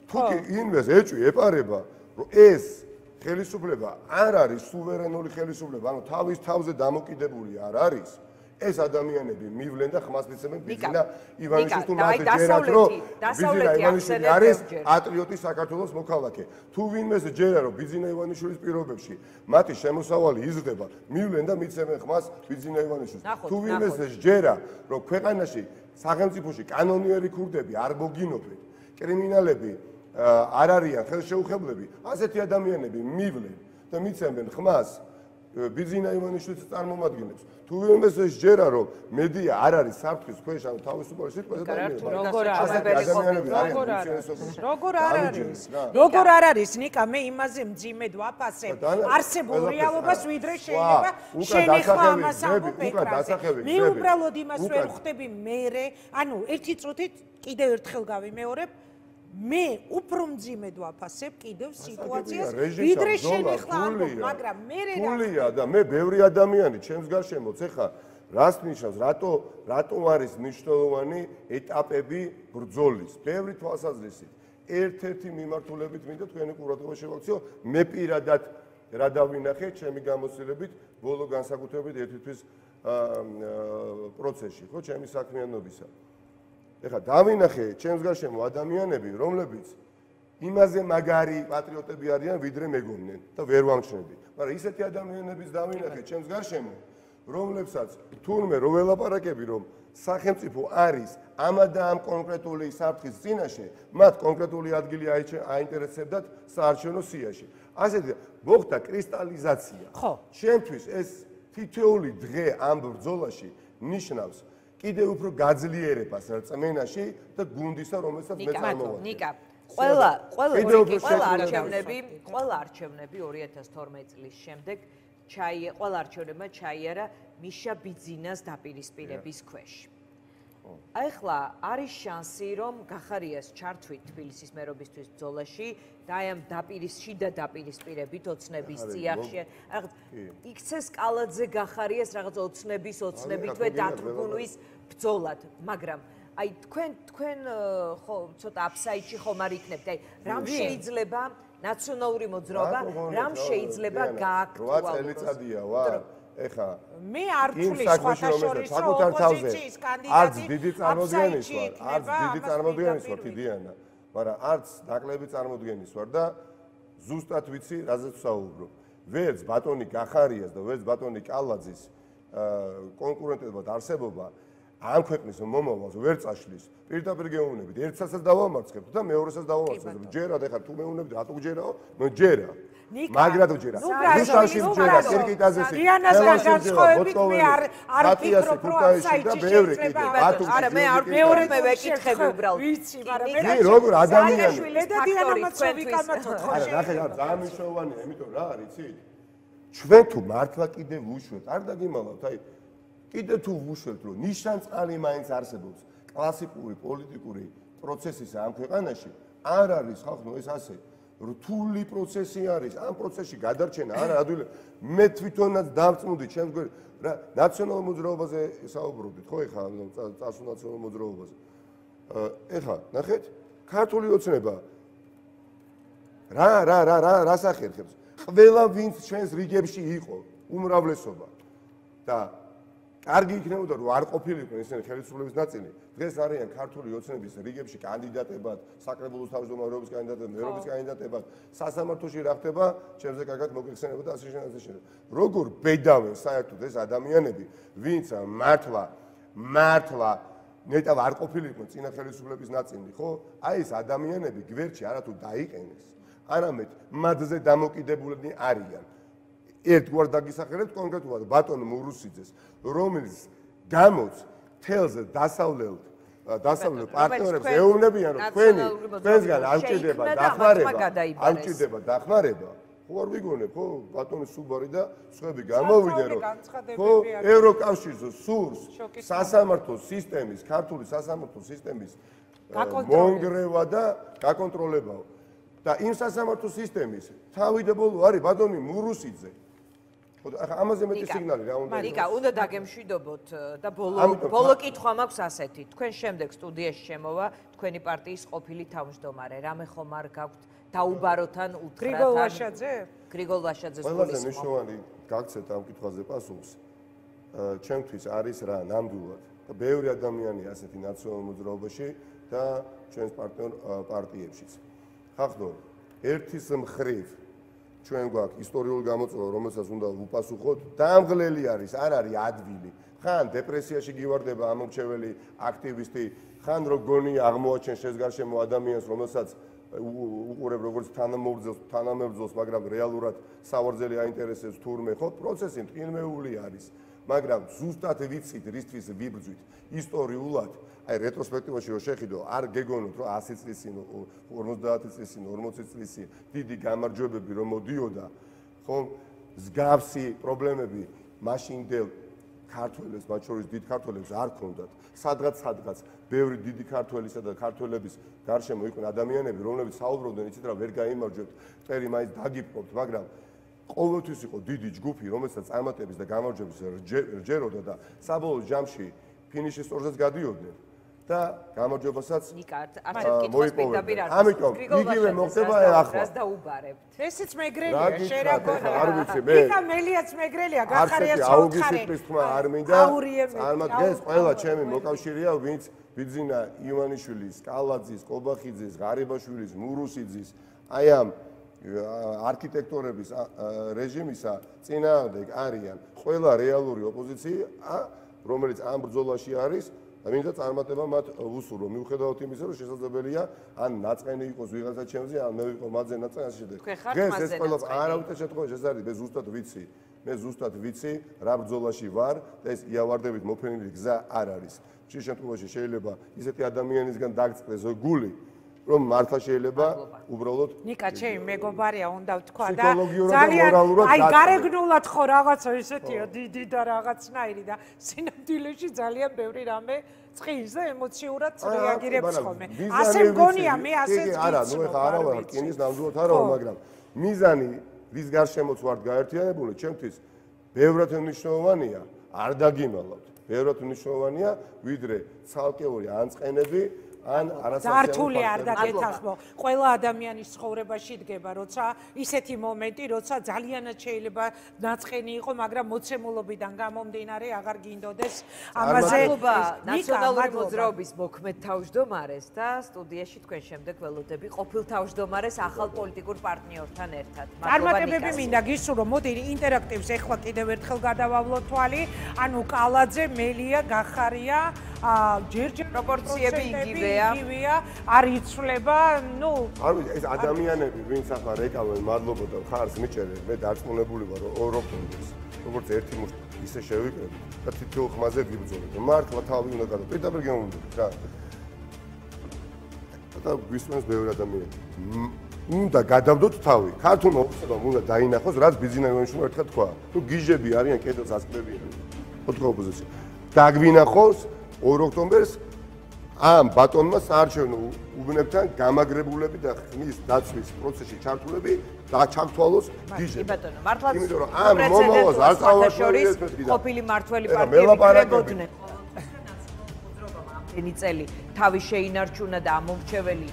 თუ კი ინვეს ეჭვი ეპარება რომ ეს ხელისუფლება არ არის სუვერენული ხელისუფლება ანუ თავის თავზე დამოკიდებული არ არის ეს ადამიანები მივლენ და ხმას მიცემენ ბიძინა ივანიშვილს თუ მათ ჯერათ რომ ბიძინა ივანიშვილი არის პატრიოტი საქართველოს მოქალაქე თუ ვინმეს ჯერა რომ ბიძინა ივანიშვილის პირობებში მათი შემოსავალი იზრდება მივლენ და მიცემენ ხმას ბიძინა ივანიშვილს თუ ვინმეს ჯერა რომ ქვეყანაში სახელმწიფოში კანონიერი ქურდები არ მოგინობენ კრიმინალები არ არიან ხელშეუხებლები ასეთი ადამიანები მივლენ და მიცემენ ხმას ბიძინა ივანიშვილის წარმომადგენლებს თუ ვინმეს ჯერა რომ მედია არ არის საფრთხის ქვეშ ან თავისუფალი სიტყვაზე როგორ არ არის ნიკა მე იმაზე მძიმედ ვაფასებ არსებულ რეალობას ვიდრე შეიძლება შენი ხმა ამას ამბობ ეკრანზე მე უბრალოდ იმას ვერ ხვდები მე ანუ ერთი წუთით კიდევ ერთხელ გავიმეორებ მე უფრო მძიმედ ვაფასებ კიდევ სიტუაციას ვიდრე შენი ხმა ამბობ მაგრამ მე რა და მე ბევრი ადამიანი ჩემს გარშემოც ეხა რას ნიშნავს რატო არის მნიშვნელოვანი ეტაპები ბრძოლის ბევრი თვალსაზრისით ერთ-ერთი მიმართულებით მინდა თქვენი ყურადღება შევაქციო მე პირადად რა დავინახე ჩემი გამოცდილებით ბოლო განსაკუთრებით ერთი თვის პროცესში ხო ჩემი საქმიანობისა ეხლა დავინახე ჩემს გარშემო ადამიანები რომლებიც იმაზე მაგარი პატრიოტები არიან, ვიდრე მეგონენ და ვერ ვამჩნევდი. მაგრამ ისეთი ადამიანების დავინახეთ ჩემს გარშემო, რომლებსაც თურმე რო ველაპარაკები, რომ სახელმწიფო არის ამა და ამ კონკრეტული საფრთხის წინაშე, მათ კონკრეტული ადგილი აინტერესებდათ საარჩევნო სიაში. ასეთი მოხდა კრისტალიზაცია. ჩემთვის ეს თითოეული დღე ამ ბრძოლაში ნიშნავს კიდევ უფრო გაძლიერებას რწმენაში და გუნდისა, რომელსაც მე წარმოვადგენ. ნიკა, ყველა არჩევნები 2012 წლის შემდეგ ყველა არჩევნებმა ჩაიარა მიშა ბიძინას დაპირისპირების ქვეშ. ახლა არის შანსი, რომ გახარიას ჩართვით თბილისის მერობისთვის ბრძოლაში და აი ამ შიდა დაპირისპირებით ოცნების წიაღში. იქცეს კალაძე გახარიას რაღაც ოცნებითვე დათრგუნვის ბრძოლად, მაგრამ აი თქვენ ხო ცოტა აფსაიდში ხომ არ იქნებთ. აი რამ შეიძლება ნაციონალური მოძრაობა, რამ შეიძლება გააქტუალუროს? 8 წელიწადია ვარ. ეხა მე არ ვთვლი სხვათაშორის ოპოზიციის კანდიდატი დიდი წარმოდგენის ვარ დიდიანა, მაგრამ არც ნაკლები წარმოდგენის ვარ და ზუსტად ვიცი რაზეც ვსაუბრობ. ვერც ბატონი გახარიას და ვერც ბატონი კალაძის კონკურენტებად არსებობა ამ ქვეყნის მომავალს ვერ წაშლის. პირდაპირ გეუბნებით, ერთსაც დავამარცხებთ და მეორესაც დავამარცხებთ. ჯერად ეხლა თუ მეუბნებით, რატო გჯერაო? ნუ ჯერა. მაგრად ვჯერა. რუსთავში ვჯერა, კირკიტაზეში. დიანასთან განსხვავებით მე არ ვფიქრობ, რომ და ბევრი კიდე. არა, მე არ მეორე მე ვეკითხები უბრალოდ. ვიცი, მაგრამ მე როგორ ადამიანი და დიანა მოცოვიკამათო ხო არა, ნახე, ძალიან მნიშვნელოვანია, იმიტომ რა არის, იცით? ჩვენ თუ მართლა კიდე ვუშვებთ, არ დაგიმალავთ, აი კიდე თუ ვუშვებთ, რომ ნიშანწყალი მაინც არსებობს კლასიკური პოლიტიკური პროცესისა ამ ქვეყანაში, არ არის ხალხო ეს ასე რთული პროცესი არის, ამ პროცესში გადარჩენა არა ადვილი. მე თვითონაც დავწმუნდი ჩემს გვერდ რა ნაციონალურ მოძრაობაზე საუბრობდით, ხო ეხლა წასულ ნაციონალურ მოძრაობაზე. ეხლა ნახეთ, ქართული ოცნება რას ახერხებს? ყველა ვინც ჩვენს რიგებში იყო, უმრავლესობა და კარგი იქნებოდა რომ არ ყოფილიყო ესენი ხელისუფლების ნაწილი. დღეს არიან ქართული ოცნების რიგებში კანდიდატებად, საკრებულოს თავმჯდომარეობის კანდიდატებად, მერობის კანდიდატებად, სასამართლოში რა ხდება, ჩემზე კარგად მოგეხსენება და ასე შემდეგ. როგორ ბედავენ საერთოდ ეს ადამიანები, ვინც მართლა ნეტავ არ ყოფილიყო წინა ხელისუფლების ნაწილი, ხო? აი ეს ადამიანები გვერდში არათუ დაიყენეს, არამედ მათზე დამოკიდებული არიან. ერთგვარ დაგისახელებთ კონკრეტულად ბატონ მურუსიძეს, რომელიც გამოც თელზე დასავლელ პარტნიორებს ეუბნებიან, რომ თქვენგან არ ჭირდება დახმარება. ხო არ ვიგონებ, ხო ბატონი სუბარი და სხვები გამოვიდნენ, რომ ხო ევროკავშირზე სურს სასამართლო სისტემის, ქართული სასამართლო სისტემის მონგრევა და გაკონტროლებაო. და იმ სასამართლო სისტემის თავიდებოლო არის ბატონი მურუსიძე. ახლა ამაზე მეტი სიგნალი რა უნდა? მარიკა, უნდა დაგემშვიდობოთ და ბოლო კითხვა მაქვს ასეთი. თქვენ შემდეგ სტუდიაში შემოვა თქვენი პარტიის ყოფილი თავმჯდომარე. რამე ხომ არ გაქვთ დაუბაროთან უთხრათ? გრიგოლ ვაშაძე? გრიგოლ ვაშაძეს ყველაზე მნიშვნელოვანი გაგცეთ ამ კითხვაზე პასუხს. ჩემთვის არის რა ნამდვილად და ბევრი ადამიანი ასეთი ნაციონალურ მოძრაობაში და ჩვენს პარტნიორ პარტიებშიც. ხახნო, ერთის მხრივ ჩვენ გვაქვს ისტორიული გამოწვევა, რომელსაც უნდა ვუპასუხოთ, დამღლელი არის, არ არის ადვილი. ხან დეპრესიაში გივარდება ამორჩეველი აქტივისტი, ხან რო გონი აღმოაჩენ შენს გარშემო ადამიანს, რომელსაც უყურებ როგორც თანამებრძოლს, მაგრამ რეალურად სავარძელი აინტერესებს თურმე, ხო? პროცესი მტკივნეული არის, მაგრამ ზუსტად ვიცით, რისთვის ვიბრძვით ისტორიულად. აი რეტროსპექტივაში რო შეხედო, არ გეგონოთ, რომ 100 წლის წინ, 50 წლის წინ, 40 წლის წინ დიდი გამარჯვებები რომ მოდიოდა, ხო? მსგავსი პრობლემები მაშინდელ ქართველებს, მათ შორის დიდ ქართველებს არ ქონდათ. სადღაც ბევრი დიდი ქართველისა და ქართველების გარშემო იყვნენ ადამიანები, რომლებიც საუბრობდნენ, იცით რა, ვერ გაიმარჯვებთ, წერი მაინც დაგიპყრობთ, მაგრამ ყოველთვის იყო დიდი ჯგუფი, რომელსაც წარმატების და გამარჯვების რჯეროდა და საბოლოო ჯამში ფინიშის სწორზეც გადიოდნენ. და გამარჯვებასაც მოიპოვებთ. ამიტომ იგივე მოხდება ახლა. ესეც მეგრელია, შენ რა გონა. არ ვიცი მე. იქა მელიაც მეგრელია, გახარიას ოთხარი. აუგისტის თქმა არ მინდა. წარმატდეს ყველა ჩემი მოკავშირეა, ვინც ბიძინა ივანიშვილის, კალაძის, კობახიძის, ღარიბაშვილის, მურუსიძის, აი ამ არქიტექტორების რეჟიმისა წინააღმდეგ არიან ყველა რეალური ოპოზიცია, რომელიც ამ ბრძოლაში არის და მინდა წარმატება მათ უსურვო. მიუხედავად იმისა, რომ შესაძლებელია ან ნაწყენი იყოს ვიღაცა ჩემზე, ან მე ვიყო მათზე ნაწყენი ასე შემდეგ. დღეს ეს ყველა არავითარ შემთხვევაში ეს არის, მე ზუსტად ვიცი. მე ზუსტად ვიცი რა ბრძოლაში ვარ და ეს იავარდებით მოფენილი გზა არ არის. ხშირ შემთხვევაში შეიძლება ისეთი ადამიანისგან დაგწყდეს გული, რომ მართლა შეიძლება უბრალოდ ნიკა ჩემი მეგობარია უნდა ვთქვა და ძალიან აი გარეგნულად ხო რაღაცა ისეთია დიდი და რაღაცნაირი და სინამდვილეში ძალიან ბევრი რამე წყის და ემოციურად რეაგირებს ხოლმე. ასე მგონია მე ასეც ვიცი. არა, ნუ ეხა არა ვარ რკინის ნამდვილად არა ვარ, მაგრამ მიზანი რის გარშემოც ვართ გაერთიანებული, ჩემთვის ბევრად მნიშვნელოვანია, არ დაგიმალავთ. ბევრად მნიშვნელოვანია, ვიდრე ცალკეული ანწყენები ან არასასიამოვნო არ დაგეთანხმო. ყველა ადამიანის ცხოვრებაში დგება, როცა ისეთი მომენტი, როცა ძალიანაც შეიძლება ნაწყენი იყო, მაგრამ მოცემულობიდან გამომდინარე აღარ გინდოდეს ამაზე. ნაციონალური მოძრაობის მოქმედ თავმჯდომარეს და სტუდიაში თქვენ შემდეგ ველოდები ყოფილ თავმჯდომარეს ახალ პოლიტიკურ პარტნიორთან ერთად. წარმატებები მინდა გისურვო. მოდი ინტერაქტივს ეხლა კიდევ ერთხელ გადავავლოთ თვალი. ანუ კალაძე, მელია, გახარია, ჯერჯერ პროპორციები იგივეა, არ იცვლება, ნუ არ ვიცი, ეს ადამიანები, ვინც ახლა რეკავენ, მადლობა და ხარს მიჭერენ, მე დარწმუნებული ვარ, რომ ორ ოქტომბერს, როგორც ერთი მუშტი ისე შევიკრები და თითოეულ ხმაზე გიბრძოლებ. მართლა თავი უნდა გადავ. პირდაპირ გემოვნებით რა. და გვისმენს ბევრი ადამიანი. უნდა გადავდოთ თავი. ქართულმა ოფიციალურად უნდა დაინახოს, რაც ბიძინა ივანიშვილმა ერთხელ თქვა. თუ გიჟები არიან, კედელს აწკდებიან. ოთხ ოპოზიცია. დაგვინახოს 2 ოქტომბერს ამ ბატონმა საარჩევნო უბნებთან გამაგრებულები და ხმის დაცვის პროცესში ჩართულები და ჩართვალოს გიჟები. ბატონო, მართლაც იმიტომ რომ ამ მომავალს არ წავაშორიეს ყოფილი მართველი პარტიები კრებოდნენ. ამდენი წელი თავი შეინარჩუნა და ამომრჩეველი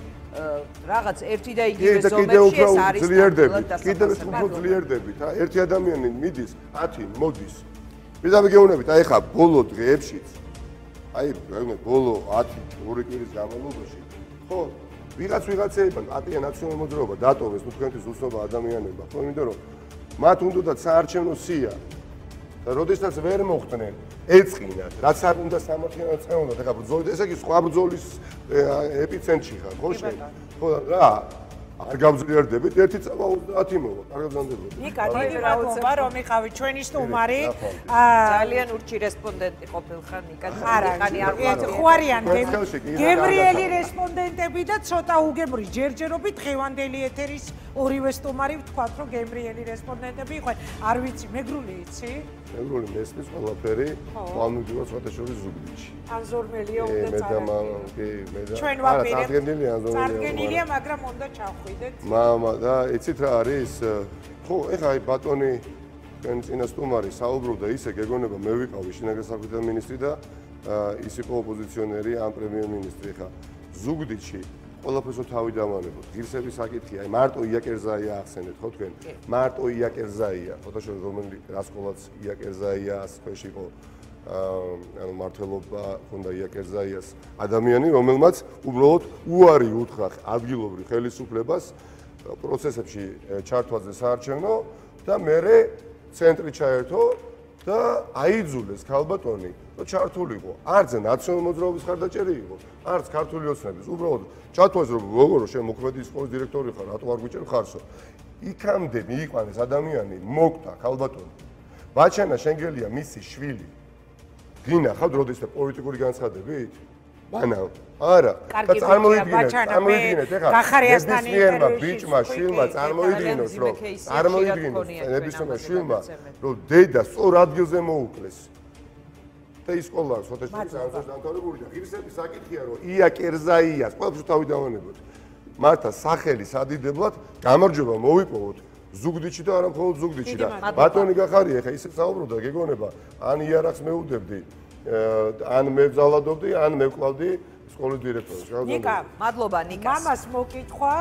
რაღაც ერთი და იგივე ზომებში ეს არის ძლიერდებით. კიდევ უფრო ძლიერდებით. ერთი ადამიანი მიდის, 10 მოდის. პირდაპირ გეუბნებით, აი ხა ბოლო დღეებშიც აი ბოლო 10-2 კვირის განმავლობაში ხო ვიღაცეებმა პარტია ნაციონალური მოძრაობა დატოვეს ნუ თქვენთვის უცნობა ადამიანებმა ხო იმიტომ რომ მათ უნდათ საარჩევნო სია და როდესაც ვერ მოხდნენ ეწყინათ რაც არ უნდა სამართლიანად წევნოთ ეხლა ბრძოლით ესე იგი სხვა ბრძოლის ეპიცენტრში ხარ ხო შენ ხო რა არ გავძლიერდებით ერთი წავა 30 მოვა კარგად გამდებოდი ნიკა დიდი მადლობა რომ იყავით ჩვენი სტუმარი ძალიან ურჩი რესპონდენტი ყოფილხარ ნიკა ხანი არ ხوارიან გებრიელი რესპონდენტები და ცოტა უგემრი ჯერჯერობით დღევანდელი ეთერის ორივე სტუმარი ვთქვათ რომ გებრიელი რესპონდენტები იყვნენ არ ვიცი მეგრული იცი მეგრული მესმის ყველაფერი პლანურია საერთაშორისო ზუგდიდში ან ზორმელია უნდა წარადგენ ჩვენ ვაპირებთ წარდგენილია მაგრამ უნდა ჩავხვიდეთ მამა და იცით რა არის ხო ეხა აი ბატონი თქვენ წინა სტუმარი საუბრობდა ისე გეგონება მე ვიყავი შინაგან საქმეთა მინისტრი და ის იყო ოპოზიციონერი ან პრემიერ-მინისტრი ხა ზუგდიდში ყველაფერს თავი დავანებოთ. ღირსების საკითხია, აი მარტო იაკერზაია ახსენეთ, ხო თქვენ? მარტო იაკერზაია, ფოტოშოპი რომელი რასკოლაც იაკერზაია ასქვეშ იყო ანუ მართლობა ქონდა იაკერზაიას ადამიანი, რომელმაც უბრალოდ უარი უთხრა ადგილობრივ ხელისუფლებას პროცესებში ჩართვაზე საარჩევნო და მერე ცენტრი ჩაერთო და აიძულეს ქალბატონი და ჩართულიყო. არც ნაციონალური მოძრაობის ხარდაჭერი იყო, არც ქართული ოცნების. უბრალოდ ჩათვალეს რომ როგორ შენ მოქმედი სკოლის დირექტორი ხარ, რატო არ გვიჭერ ხარსო. იქამდე მიიყვანეს ადამიანი, მოკთა ქალბატონი. ბაჩანა შენგელია მისი შვილი. გინახავთ როდესაც პოლიტიკური განცხადებით? მანა არა და წარმოიდგინეთ ეხლა გახარიასთანი ბიჭმა შვილმა წარმოიდგინოს რომ ნებისმიერ შვილმა რომ დედა სწორ ადგილზე მოუკლეს და ის სკოლა სოთაშორის ანზორს დამთავრებული და ღირსების საკითხია რომ იაკერზაიას ყველაფერს თავი დავანებოთ მართა სახელი სადიდებლად გამარჯვება მოვიპოვოთ ზუგდიდში და არა მხოლოდ ზუგდიდში და ბატონი გახარია ეხლა ისე საუბრობდა გეგონება ან იარაღს მეუდებდი ან მე ვზალადობდი ან მე ვკლავდი სკოლის დირექტორი. ნიკა, მადლობა ნიკას. მამას მოკითხვა,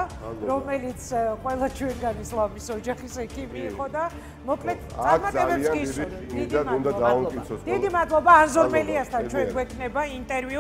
რომელიც ყველა ჩვენგანის ლამის ოჯახის ექიმი იყო და მოკლედ წარმატებებს გისურვებთ. დიდი მადლობა. დიდი მადლობა ანზორმელიასთან ჩვენ გვექნება ინტერვიუ.